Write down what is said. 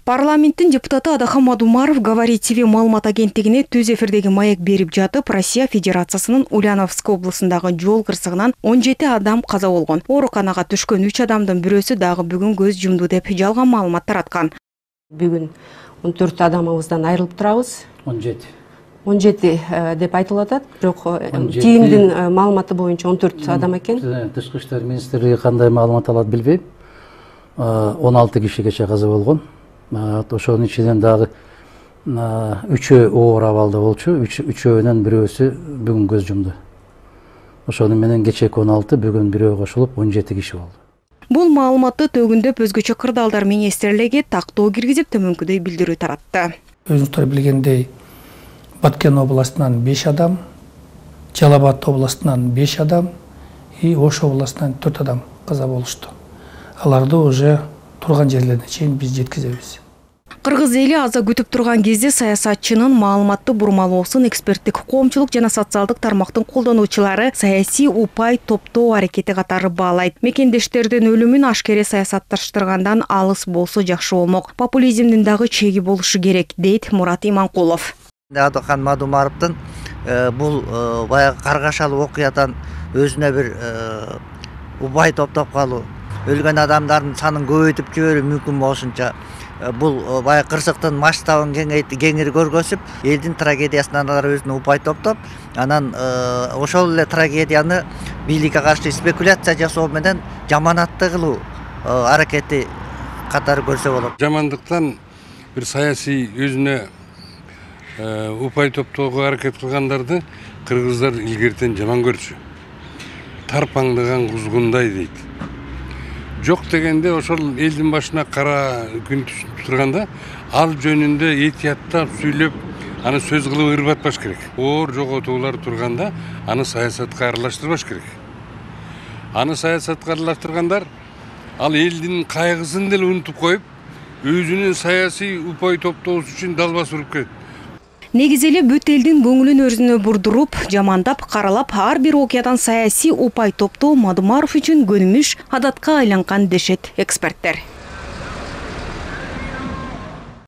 Парламенттин депутаты Адахан Мадумаров Говори ТВ маалымат агенттигине түз эфирдеги маек берип жатып, Россия Федерациясынын Ульяновск облусундагы жол кырсыгынан 17 адам каза болгон. Ооруканага түшкөн 3 адамдын бирөөсү дагы бүгүн көз жумду деп жалган маалымат тараткан. Бүгүн 14 адамыбыздан айрылып турабыз. 17 деп айтылып атат, бирок ТИМдин маалыматы боюнча 14 адам экен. Тышкы иштер министрлиги кандай маалымат алат билбейм. 16 кишигече каза болгон. Ошонун ичинен дагы 3 оор абалда болчу, 3-өөнүн бирөөсү бүгүн көз жумду. Ошону менен кечээки 16, бүгүн бирөө кошулуп 17 киши болду. Бул маалыматты төгүндөп өзгөчө кырдаалдар министрлиги тактоо киргизип төмөнкүдөй билдирүү таратты. Өзүңүздөр билгендей, Баткен областынан 5 адам, Жалал Абад областынан 5 адам и Ош областынан 4 адам каза болушту. Аларды уже турган жерлерине чейин биз жеткизебиз. Кыргыз эли аза күтүп турган кезде саясатчынын маалыматты бурмалоосун эксперттик коомчулук жана социалдык тармактын колдонуучулары саясий упай топтоо аракети катары баалайт. Мекендештердин өлүмүн ашкере саясатташтыргандан алыс болсо жакшы болмок. Популизмдин дагы чеги болушу керек, дейт Мурат Иманкулов. Адахан Мадумаровдун бул баягы каргашалуу окуядан өзүнө бир упай топтоп калуу, өлгөн адамдардын санын көбөйтүп жиберүү мүмкүн болушунча бул баягы кырсыктын масштабын кеңири көргөзүп, элдин трагедиясынан алар өзүнө упай топтоп, анан ошол эле трагедияны бийликке каршы спекуляция жасоо менен жаманатты кылуу аракети катары көрсө болот. Жамандыктан бир саясий өзүнө упай топтоого аракет кылгандарды кыргыздар илгертен жаман көрчү. Тарпаңдаган кузгундай дейт. Жок дегенде ошол элдин башына кара күн түшүп турганда ал жөнүндө этияттап сүйлөп, аны сөз кылып ырбатпаш керек. Оор жоготуулар турганда аны саясатка аралаштырбаш керек. Аны саясатка аралаштыргандар ал элдин кайгысын деле унутуп коюп, өзүнүн саясий упай топтоосу үчүн далбас уруп келет. Негизи эле бүт элдин көңүлүн өзүнө бурдуруп, жамандап, каралап, ар бир окуядан саясий упай топтоо Мадумаров үчүн көнүмүш адатка айланган дешет эксперттер.